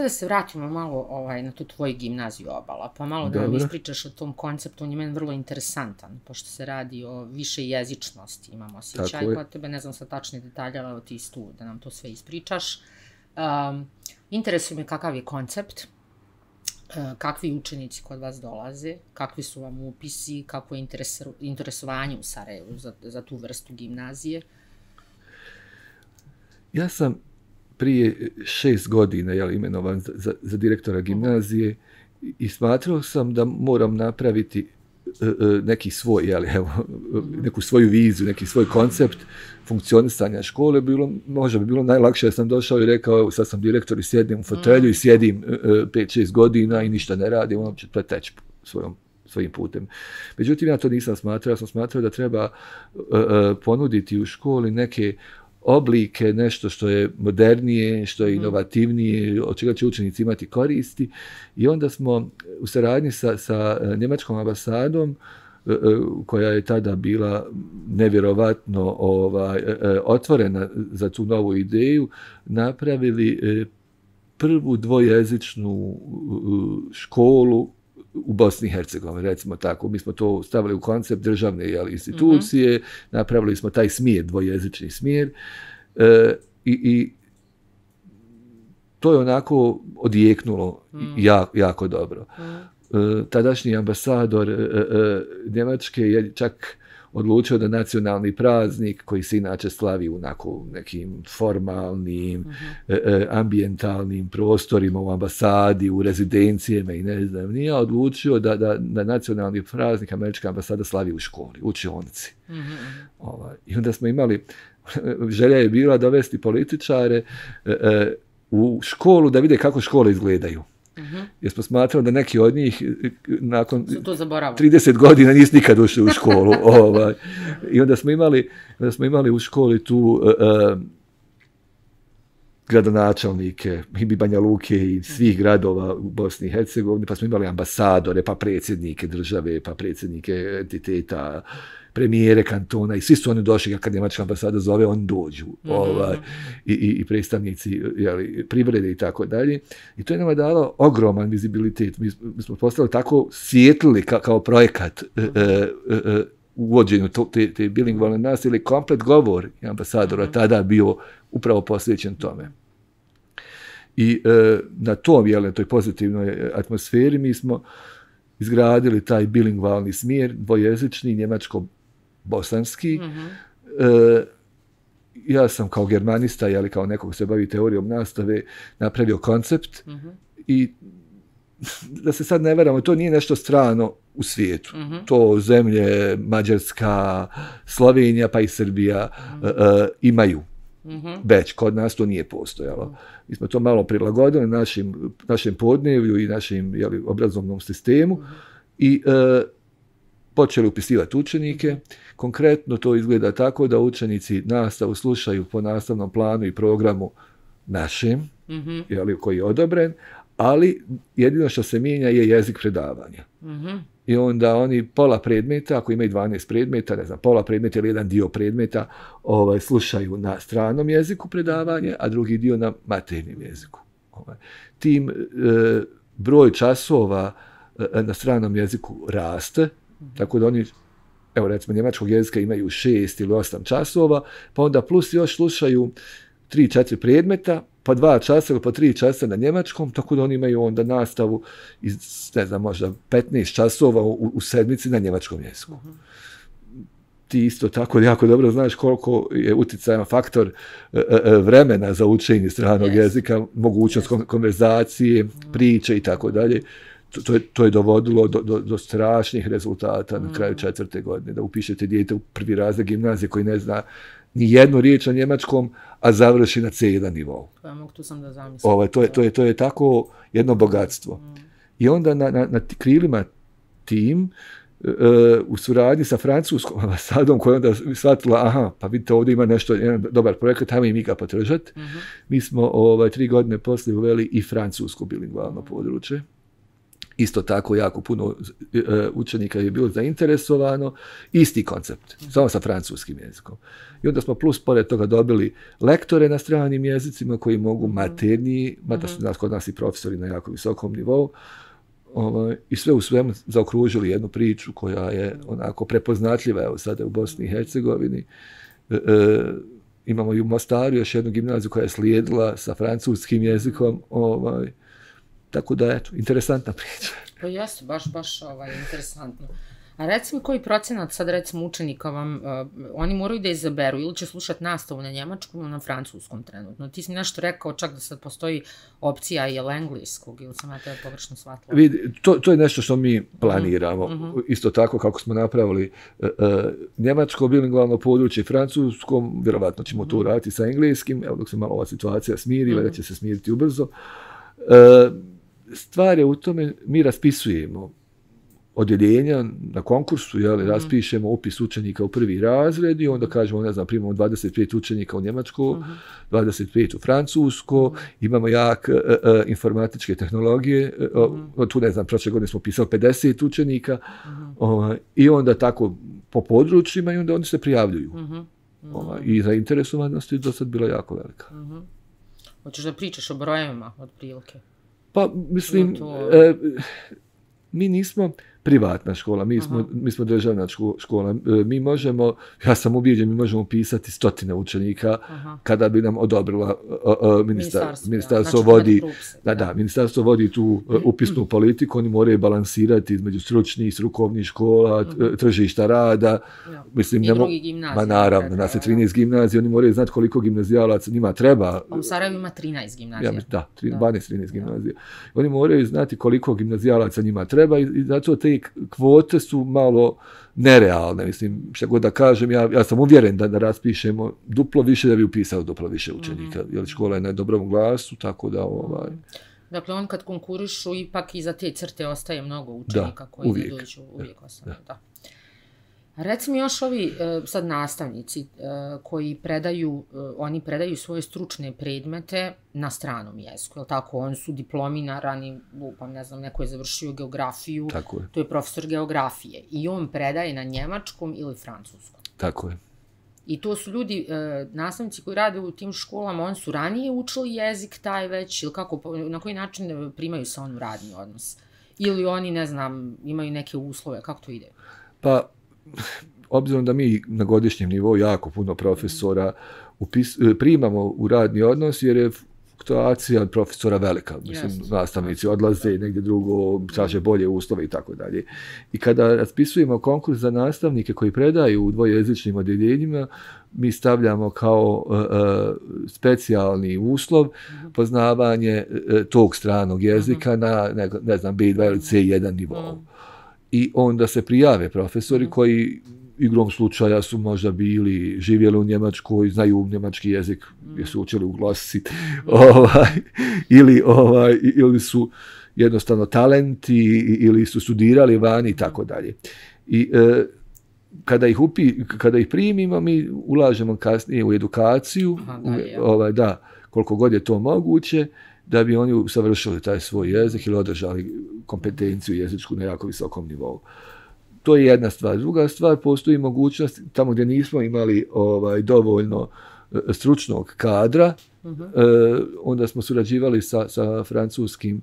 da se vratimo malo na tu tvoju gimnaziju Obala, pa malo da nam ispričaš o tom konceptu, on je meni vrlo interesantan, pošto se radi o više jezičnosti, imamo osjećaj kod tebe, ne znam sa tačni detalje, ali ti tu da nam to sve ispričaš. Interesuje me kakav je koncept, kakvi učenici kod vas dolaze, kakvi su vam upisi, kako je interesovanje u Sarajevu za tu vrstu gimnazije? Ja sam prije 6 godina imenovan za direktora gimnazije i smatrao sam da moram napraviti neki svoj, neku svoju viziju, neki svoj koncept funkcionisanja škole. Možda bi bilo najlakše da sam došao i rekao, evo sad sam direktor i sjedim u fotelju i sjedim 5-6 godina i ništa ne radim, ono će preteći svojim putem. Međutim, ja to nisam smatrao. Ja sam smatrao da treba ponuditi u školi neke oblike, nešto što je modernije, što je inovativnije, od čega će učenici imati koristi. I onda smo u saradnji sa njemačkom ambasadom, koja je tada bila nevjerovatno otvorena za tu novu ideju, napravili prvu dvojezičnu školu u Bosni i Hercegovini, recimo tako. Mi smo to stavili u koncept državne institucije, napravili smo taj smjer, dvojezični smjer, i to je onako odjeknulo jako dobro. Tadašnji ambasador Njemačke je čak odlučio da nacionalni praznik, koji se inače slavi u nekim formalnim, ambijentalnim prostorima u ambasadi, u rezidencijama i ne znam, nije odlučio da nacionalni praznik američka ambasada slavi u školi, u učionici. I onda smo imali, želja je bila dovesti političare u školu da vide kako škole izgledaju. Jer smo smatrali da neki od njih nakon 30 godina nisu nikad ušli u školu. I onda smo imali u školi tu gradonačelnike i Banja Luke i svih gradova u Bosni i Hercegovini, pa smo imali ambasadore, pa predsjednike države, pa predsjednike entiteta, premijere kantona, i svi su oni došli, kad njemačka ambasada zove, oni dođu, i predstavnici privrede i tako dalje. I to je nama dalo ogroman vizibilitet. Mi smo postali tako svijetlili kao projekat u uvođenju te bilingvalne nastave, ili komplet govor ambasadora tada bio upravo posvećen tome. I na toj pozitivnoj atmosferi mi smo izgradili taj bilingvalni smjer, dvojezični, njemačko-bosanski. Ja sam kao germanista, kao neko ko se bavi teorijom nastave, napravio koncept i da se sad ne varamo, to nije nešto strano u svijetu. To zemlje Mađarska, Slovenija pa i Srbija imaju. Već kod nas to nije postojalo. Mi smo to malo prilagodili našem podnevlju i našem obrazovnom sistemu i počeli upisivati učenike. Konkretno to izgleda tako da učenici nastavu slušaju po nastavnom planu i programu našem, koji je odobren, ali jedino što se mijenja je jezik predavanja. I onda oni pola predmeta, ako imaju 12 predmeta, ne znam, pola predmeta ili jedan dio predmeta slušaju na stranom jeziku predavanje, a drugi dio na maternjem jeziku. Tim broj časova na stranom jeziku raste, tako da oni, evo recimo njemačkog jezika imaju 6 ili 8 časova, pa onda plus još slušaju 3-4 predmeta, pa 2 časa ili pa 3 časa na njemačkom, tako da oni imaju onda nastavu iz, ne znam, možda 15 časova u sedmici na njemačkom jeziku. Ti isto tako jako dobro znaš koliko je utjecajan faktor vremena za učenje stranog jezika, mogućnost konverzacije, priče i tako dalje. To je dovodilo do strašnih rezultata na kraju 4. godine, da upišete dijete u prvi razred gimnazije koji ne zna ni jednu riječ na njemačkom, a završi na C1 nivou. Tu sam da zamislim. To je tako jedno bogatstvo. I onda na krilima tim, u suradnji sa francuskom ambasadom, koja je onda shvatila, pa vidite, ovdje ima jedan dobar projekat, ajmo i mi ga podržati. Mi smo 3 godine poslije uveli i francusko bilingvalno područje. Isto tako jako puno učenika je bilo zainteresovano, isti koncept, samo sa francuskim jezikom. I onda smo plus pored toga dobili lektore na stranim jezicima koji mogu materniji, mada su kod nas i profesori na jako visokom nivou, i sve u svemu zaokružili jednu priču koja je onako prepoznatljiva, evo sada u Bosni i Hercegovini. Imamo i u Mostaru još jednu gimnaziju koja je slijedila sa francuskim jezikom, tako da, eto, interesantna priča. Pa jeste, baš interesantno. A recimo koji procenat sad recimo učenika vam, oni moraju da izaberu ili će slušati nastavu na njemačkom ili na francuskom trenutno? Ti si mi nešto rekao čak da sad postoji opcija i engleskog ili sam ja tebe pogrešno shvatila? Vidi, to je nešto što mi planiramo. Isto tako kako smo napravili njemačko bilingvalno područje francuskom, vjerovatno ćemo to uraditi sa engleskim, evo dok se malo ova situacija smiri, da će se smiriti ubrzo. Stvar je u tome, mi raspisujemo odjeljenja na konkursu, raspišemo upis učenika u prvi razred i onda kažemo, ne znam, primamo 25 učenika u Njemačko, 25 u Francusko, imamo jak informatičke tehnologije, tu ne znam, prošle godine smo pisali 50 učenika i onda tako po područjima i onda oni se prijavljuju. I zainteresovanost je do sad bila jako velika. Hoćeš da pričaš o brojevima od prilike? Pa, mislim, mi nismo privatna škola, mi smo državna škola. Mi možemo, ja sam ubijeđen, mi možemo upisati 100 učenika kada bi nam odobrila ministarstvo vodi. Ministarstvo vodi tu upisnu politiku, oni moraju balansirati između stručnih, strukovnih škola, tržišta rada. Mislim, i drugi gimnazije. Naravno, nas je 13 gimnazija, oni moraju znati koliko gimnazijalaca njima treba. A u Sarajevu ima 13 gimnazija. Da, 12-13 gimnazija. Oni moraju znati koliko gimnazijalaca njima treba i zato te kvote su malo nerealne. Mislim, što god da kažem, ja sam uvjeren da raspišemo duplo više da bi upisao duplo više učenika. Jer škola je na dobrom glasu, tako da Dakle, on kad konkurišu, ipak iza te crte ostaje mnogo učenika koji ne dođu, uvijek ostane. Da. Reci mi još ovi sad nastavnici koji oni predaju svoje stručne predmete na stranom jeziku, jel tako? Oni su diplomirani, ne znam, neko je završio geografiju, to je profesor geografije i on predaje na njemačkom ili francuskom. Tako je. I to su ljudi, nastavnici koji rade u tim školama, oni su ranije učili jezik taj već, ili kako, na koji način primaju se on u radni odnos? Ili oni, ne znam, imaju neke uslove, kako to ide? Pa, obzirom da mi na godišnjem nivou jako puno profesora primamo u radni odnos, jer je fluktuacija profesora velika. Mislim, nastavnici odlaze negdje drugo, traže bolje uslove i tako dalje. I kada raspisujemo konkurs za nastavnike koji predaju u dvojezičnim odjeljenjima, mi stavljamo kao specijalni uslov poznavanje tog stranog jezika na, ne znam, B2 ili C1 nivou. I onda se prijave profesori koji igrom slučaja su možda živjeli u Njemačkoj, znaju njemački jezik, jer su učili u glasi, ili su jednostavno talenti, ili su studirali vani i tako dalje. I kada ih primimo, mi ulažemo kasnije u edukaciju, koliko god je to moguće, da bi oni usavršili taj svoj jezik ili održali kompetenciju jezičku na jako visokom nivou. To je jedna stvar. Druga stvar, postoji mogućnost, tamo gdje nismo imali dovoljno stručnog kadra, onda smo surađivali sa francuskim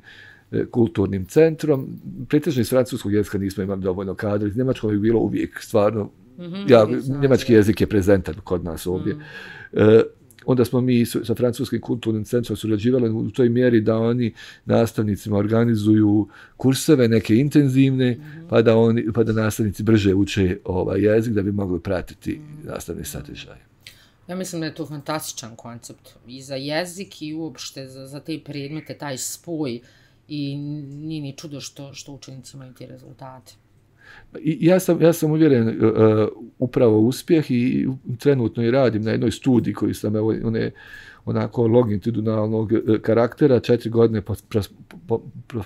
kulturnim centrom. Pretežno iz francuskog jezika nismo imali dovoljno kadra, iz njemačkog je bilo uvijek stvarno, njemački jezik je prezentan kod nas ovdje. Onda smo mi sa francuskim kulturnim centrom surađivali u toj mjeri da oni nastavnicima organizuju kurseve, neke intenzivne, pa da nastavnici brže uče jezik da bi mogli pratiti nastavni sadržaj. Ja mislim da je to fantastičan koncept i za jezik i uopšte za te predmete, taj spoj i nije ni čudo što učenici imaju te rezultate. Ja sam uvjeren upravo uspjeh i trenutno i radim na jednoj studiji koju sam onako longitudinalnog karaktera, 4 godine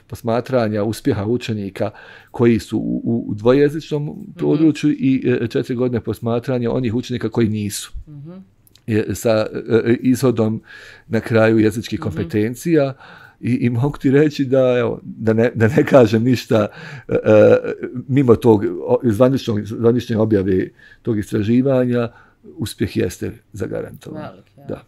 posmatranja uspjeha učenika koji su u dvojezičnom području i 4 godine posmatranja onih učenika koji nisu. Sa izhodom na kraju jezičkih kompetencija I mogu ti reći da ne kažem ništa mimo tog zvanične objave tog istraživanja, uspjeh jeste zagarantovan. Velik, ja. Da.